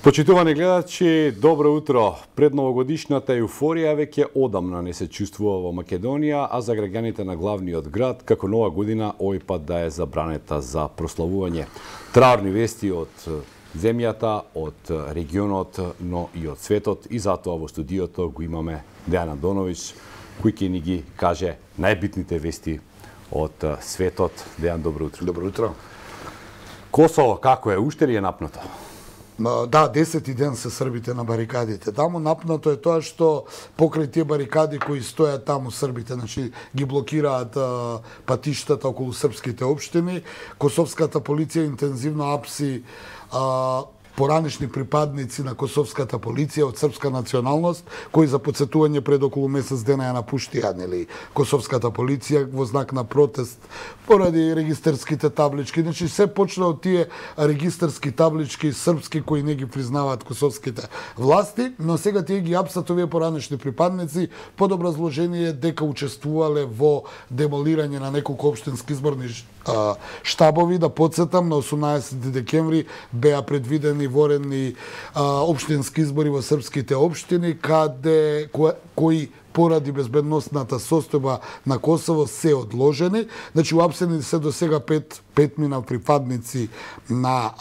Почитувани гледачи, добро утро. Предновогодишната еуфорија веќе одамна не се чувствува во Македонија, а за граѓаните на главниот град, како нова година, овој пат да е забранета за прославување. Траурни вести од земјата, од регионот, но и од светот, и затоа во студиото го имаме Дејан Андоновиќ, кој ќе ни ги каже најбитните вести од светот. Дејан, добро утро. Добро утро. Косово како е? Уште ли е напнато? Да, 10-ти ден се србите на барикадите. Таму напнато е тоа што покрај тие барикади кои стојат таму србите, значи ги блокираат патиштата околу српските општини, косовската полиција интензивно апси поранешни припадници на косовската полиција од српска националност, кои за потсетување пред околу месец дена ја напуштија, нели, косовската полиција во знак на протест поради регистарските таблички. Значи се почна од тие регистарски таблички српски кои не ги признаваат косовските власти, но сега тие ги апсат овие поранешни припадници под образложение дека учествувале во демолирање на неколку општински изборни штабови. Да подсетам, на 18 декември беа предвидени воредни општински избори во српските општини, кои поради безбедносната состојба на Косово се одложени. Значи, уапсени се до сега петмина припадници на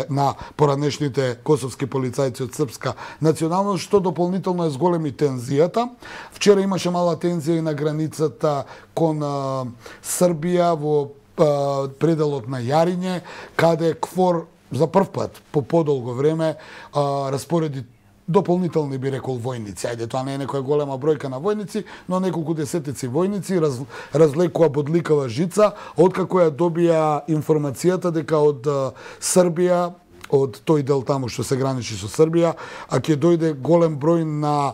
на поранешните косовски полицајци од српска националност, што дополнително е зголеми тензијата. Вчера имаше мала тензија и на границата кон Србија во пределот на Јариње, каде КФОР за прв пат по подолго време распореди дополнителни, би рекол, војници. Ајде, тоа не е некоја голема бројка на војници, но неколку десетици војници разлекува бодликава жица, откако ја добија информацијата дека од Србија, од тој дел таму што се граничи со Србија, а ќе дојде голем број на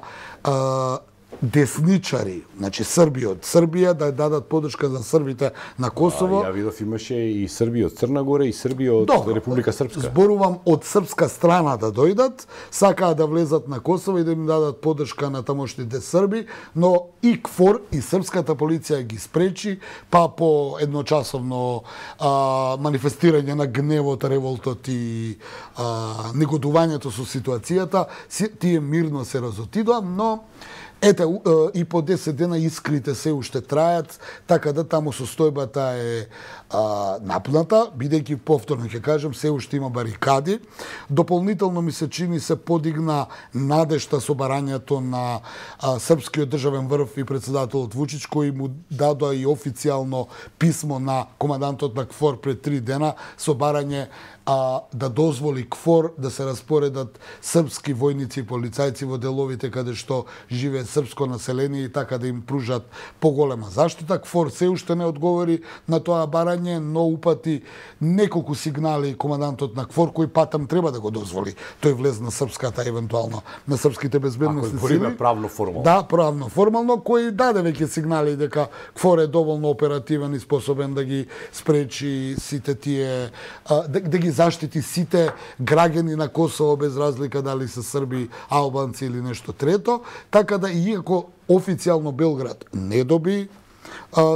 десничари, значи Срби од Србија, да дадат подршка за србите на Косово. Ја видов имаше и Срби од Црна Гора и Срби од Република Српска. Зборувам од српска страна да дојдат, сакаат да влезат на Косово и да им дадат подршка на тамошните срби, но и КФОР и српската полиција ги спречи, па по едночасовно манифестирање на гневот, револтот и негодувањето со ситуацијата, тие мирно се разотидоа, но ете, и по 10 дена искрите се уште трајат, така да таму состојбата е напната, бидејќи повторно ќе кажем, се уште има барикади. Дополнително ми се чини се подигна надежта со барањето на српскиот државен врв и председателот Вучич, кој му дадоа и официјално писмо на командантот на КФОР пред 3 дена со барање да дозволи КФОР да се распоредат српски војници и полицајци во деловите каде што живее српско население и така да им пружат поголема заштита. КФОР се уште не одговори на тоа барање, но упати неколку сигнали командантот на КФОР, кој патам треба да го дозволи. Тој влез на српската, евентуално на српските безбедносни сили. Правно формално. Да, правно формално, кој даде веќе сигнали дека КФОР е доволно оперативен и способен да ги спречи сите тие, да ги заштити сите граѓани на Косово без разлика дали се срби, албанци или нешто трето, така да иако официјално Белград не доби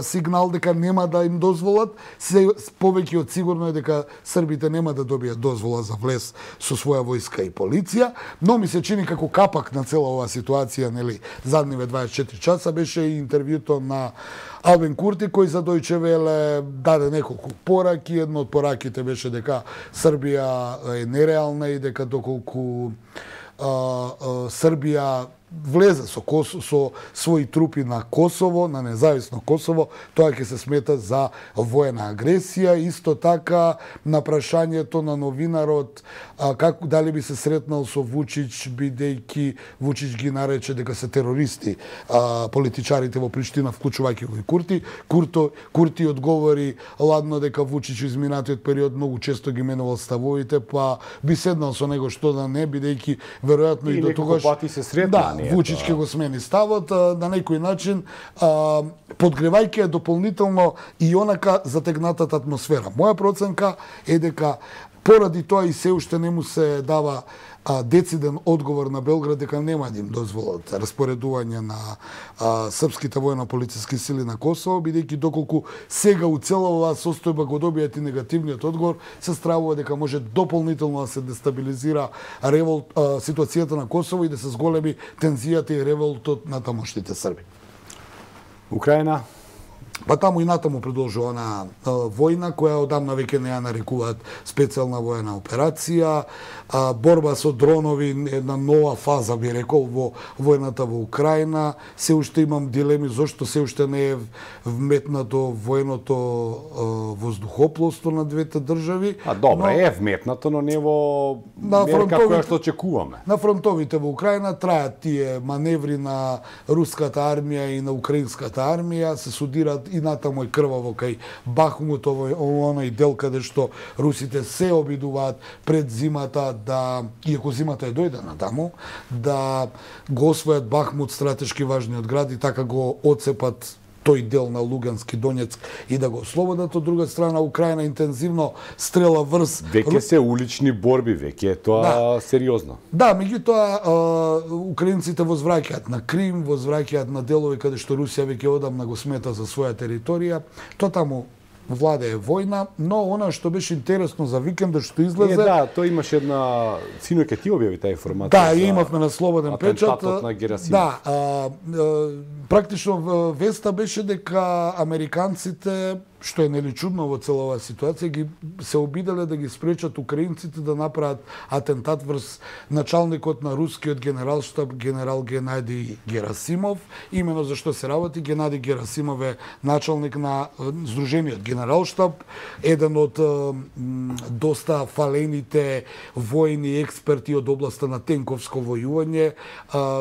сигнал дека нема да им дозволат, се повеќе од сигурно е дека србите нема да добијат дозвола за влез со своја војска и полиција, но ми се чини како капак на цела оваа ситуација, нели, задниве 24 часа беше и интервјуто на Албин Курти, кој за Дојче Веле даде неколку пораки. Едно од пораките беше дека Србија е нереална и дека доколку Србија влезе со своји трупи на Косово, на независно Косово, тоа ќе се смета за воена агресија. Исто така, на прашањето на новинарот како дали би се сретнал со Вучич, бидејќи Вучич ги нарече дека се терористи политичарите во Приштина, вклучувајќи го и Курти. Курти одговори ладно дека Вучич во изминатиот период многу често ги менувал ставовите, па би седнал со него што да не, бидејќи веројатно и до тогаш пати се сретна. Да, Вучич ќе го смени ставот на некој начин, подгревајќи е дополнително и онака затегнатата атмосфера. Моја проценка е дека Поради тоа и се уште не му се дава дециден одговор на Белград дека нема да им дозволат распоредување на српските војно-полициски сили на Косово, бидејќи доколку сега у цела оваа состојба го добијат и негативниот одговор, се стравува дека може дополнително да се дестабилизира ситуацијата на Косово и да се зголеми тензијата и револтот на тамошните срби. Украина? Па таму и натаму продолжува на војна, која одамна веќе не ја нарекуваат специјална војна операција, борба со дронови, една нова фаза, би рекол, во војната во Украина. Се уште имам дилеми зошто се уште не е вметнато војното воздухопловство на двете држави. Добро, е вметнато, но не во мерка која што очекуваме. На фронтовите во Украина трајат тие маневри на руската армија и на украинската армија, се судираат и натаму е крваво кај Бахмут, оној дел каде што русите се обидуваат пред зимата иако зимата е дојдена таму, да го освојат Бахмут, стратешки важниот град, и така го оцепат тој дел на Лугански Донецк и да го ослободат. Од друга страна, Украина интензивно стрела врз... Веќе се улични борби, веќе е тоа сериозно. Да, меѓутоа, украинците возвраќаат на Крим, возвраќаат на делови каде што Русија веќе одамна го смета за своја територија. Тоа таму владе е војна, но она што беше интересно за викендот што излезе... Да, тоа имаше една... Синој ке ти објави таа информација. Да, имавме на Слободен печат. Атентатот на Герасимов. Да, практично веста беше дека американците, што е нели чудно во цела оваа ситуација, ги се обиделе да ги спречат украинците да направат атентат врз началникот на рускиот генералштаб генерал Генадий Герасимов. Имено за што се работи, Генадий Герасимов е началник на Сдружениот генералштаб, еден од доста фалените војни експерти од областа на тенковско војување,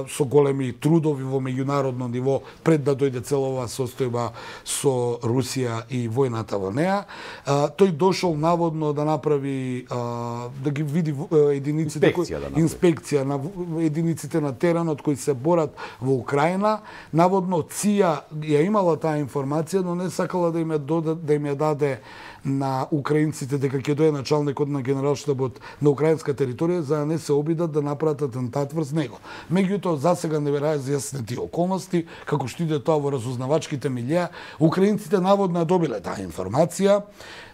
со големи трудови во меѓународно ниво пред да дојде цела оваа состојба со Русија и војната во неа. Тој дошол наводно да направи, да ги види единиците, инспекција на единиците на теренот кои се борат во Украина. Наводно ЦИА ја имала таа информација, но не сакала да им ја даде на украинците дека ќе дојде началникот на генералштабот на украинска територија за да не се обидат да направат атентат врз него. Меѓутоа, засега не разјаснети околности, како што иде тоа во разузнавачките милија. Украинците наводно добиле таа информација,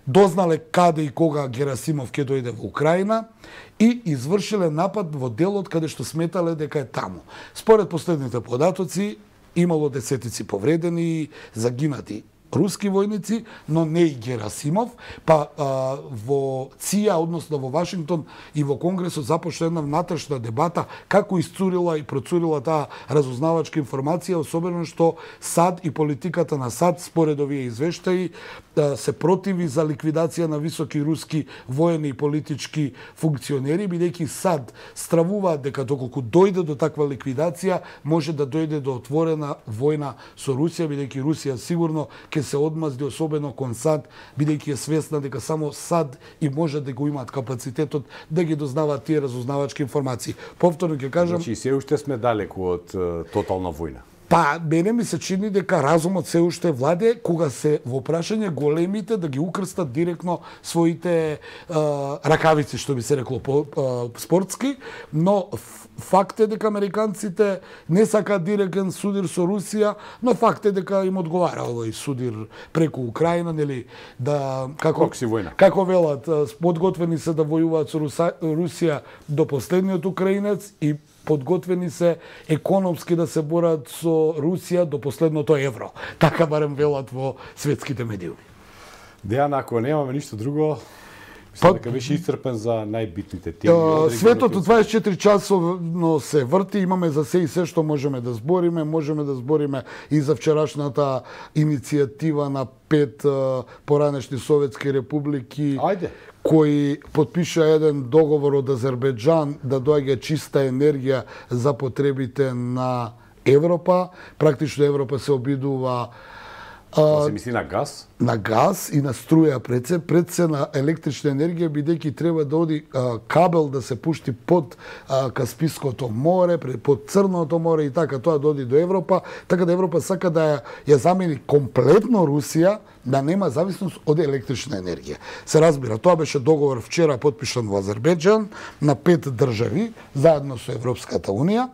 дознале каде и кога Герасимов ќе дојде во Украина и извршиле напад во делот каде што сметале дека е таму. Според последните податоци, имало десетици повредени и загинати руски војници, но не и Герасимов, па во ЦИА, односно во Вашингтон и во Конгресот започна една внатрешна дебата како iscurила и процурила таа разузнавачка информација, особено што САД и политиката на САД, според овие извештаи, се противи за ликвидација на високи руски воени и политички функционери, бидејќи САД стравуваат дека доколку дојде до таква ликвидација, може да дојде до отворена војна со Русија, бидејќи Русија сигурно ќе се одмазди, особено кон САД, бидејќи е свесна дека само САД и може да го имаат капацитетот да ги дознаваат тие разузнавачки информации. Повторно ќе кажам... Значи, се уште сме далеку од тотална војна. Па, мене ми се чини дека разумот се уште владе кога се во прашање големите да ги укрстат директно своите ракавици, што би се рекло спортски, но факт е дека американците не сакаат директен судир со Русија, но факт е дека им одговара овој судир преку Украина, нели, да како велат, подготвени се да војуваат со Русија до последниот украинец и подготвени се економски да се борат со Русија до последното евро. Така барем велат во светските медиуми. Дејан, ако немаме ништо друго, мислам дека беше исцрпен за најбитните теми. Светот од 24 часовно се врти, имаме за се и се што можеме да збориме и за вчерашната иницијатива на 5 поранешни советски републики. Ајде. Кој потпиша еден договор од Азербејџан да доаѓа чиста енергија за потребите на Европа. Практично Европа се обидува се мисли на газ? На газ и на струја пред се на електрична енергија, бидејќи треба да оди кабел да се пушти под Каспиското море, под Црното море и така тоа доди до Европа, така да Европа сака да ја замени комплетно Русија, да нема зависност од електрична енергија. Се разбира, тоа беше договор вчера подпишан во Азербејџан на 5 држави заедно со Европската унија.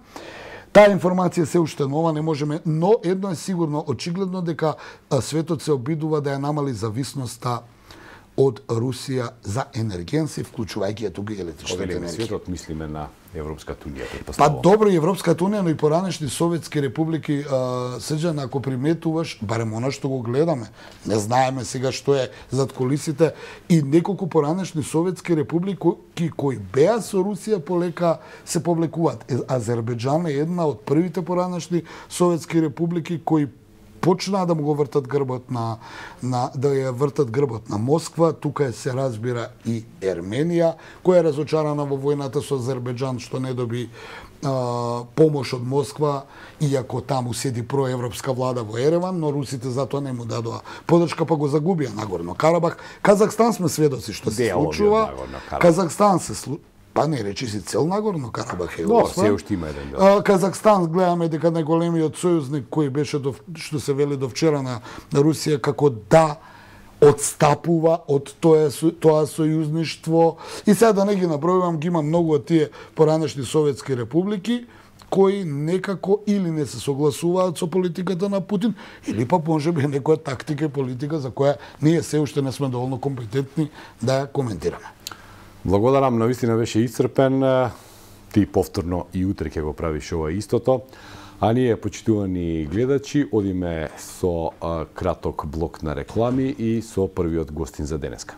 Таа информација се уште нова, не можеме, но едно е сигурно, очигледно дека светот се обидува да ја намали зависноста од Русија за енергенси, вклучувајќи ја тука и електричната енергија. Светот мислиме на Европската унија, Па добро, Европската унија, но и поранешни советски републики, Срđan, ако приметуваш, барем она што го гледаме, не знаеме сега што е зад колисите, и неколку поранешни советски републики кои беа со Русија полека се повлекуваат. Азербејџан е една од првите поранешни советски републики кои почнаа да му го вртат грбот да ја вртат грбот на Москва. Тука се разбира и Ерменија, која е разочарана во војната со Азербејџан што не доби помош од Москва, иако таму седи проевропска влада во Ереван, но русите затоа не му дадоа подршка, па го загубија Нагорно Карабах. Казахстан сме сведоци што се случува. Казахстан се па не речи си цел Нагорно Карабах е освоен. Се уште има еден дел. Казахстан гледаме дека најголемиот сојузник кој беше што се вели до вчера на Русија како да одстапува од тоа сојузништво. И сега да не ги набројувам, ги има многу од тие поранешни советски републики кои некако или не се согласуваат со политиката на Путин, или па можеби некоја тактика и политика за која ние се уште не сме доволно компетентни да ја коментираме. Благодарам, навистина беше исцрпен. Ти повторно и утре ќе го правиш ова истото. А ние, почитувани гледачи, одиме со краток блок на реклами и со првиот гостин за денеска.